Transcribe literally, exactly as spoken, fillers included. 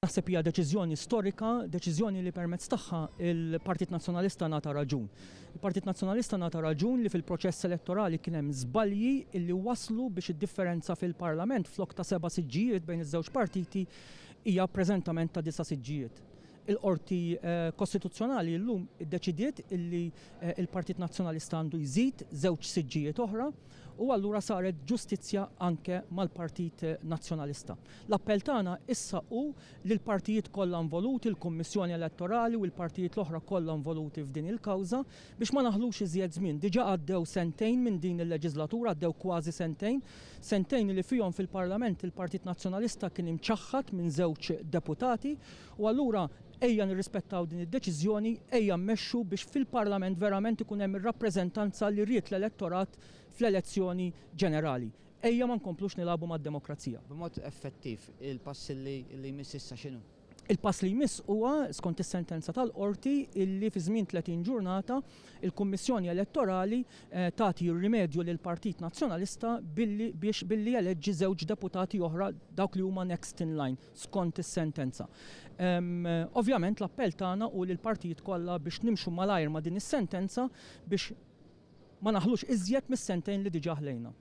Naħseb hija deċiżjoni storika, deċiżjoni li permezz tagħha il-Partit Nazzjonalista ngħata raġun. Il-Partit Nazzjonalista ngħata raġun li fil-proċess elettorali kien hemm żbalji illi waslu biex id-differenza fil-Parlament flok ta' seba' siġġijiet bejn iż-żewġ partiti hija preżentament ta' disa' siġġijiet. Il-Qorti Kostituzzjonali llum iddeċidiet illi il-Partit Nazzjonalista għandu jżid żewġ siġġijiet oħra u allura saret ġustizzja anke mal-Partit Nazzjonalista. L-appell tagħna issa hu li l-partijiet kollha involuti, il-Kummissjoni Elettorali u l-partijiet l-oħra kollha involuti f'din il-kawża biex ma naħlux iżjed żmien. Diġà għaddew sentejn minn din il-leġislatura, għaddew kważi sentejn, sentejn li fihom fil-Parlament il-Partit Nazzjonalista kien imċaħħad minn żewġ deputati u allura ejja nirrispettaw din id-deċiżjoni, ejja mmexxu biex fil-Parlament verament ikun hemm ir-rappreżentanza li ried l-elettorat fl-elezzjoni ġenerali. Ejja ma nkomplux nilagħbu mad-demokrazija. B'mod effettiv, il-pass li jmiss issa x'inhu? Il-pass li jmiss huwa skont is-sentenza tal-qorti illi fi żmien tletin ġurnata il-Kummissjoni Elettorali tagħti rimedju lil Partit Nazzjonalista billi biex billi jeleġġi żewġ deputati oħra dawk li huma next in line skont is-sentenza. Ovvjament l-appell tagħna hu lil partijiet kollha biex nimxu malajr ma' din is-sentenza biex ma naħlux iżjed mis-sentejn li diġà ħlejna.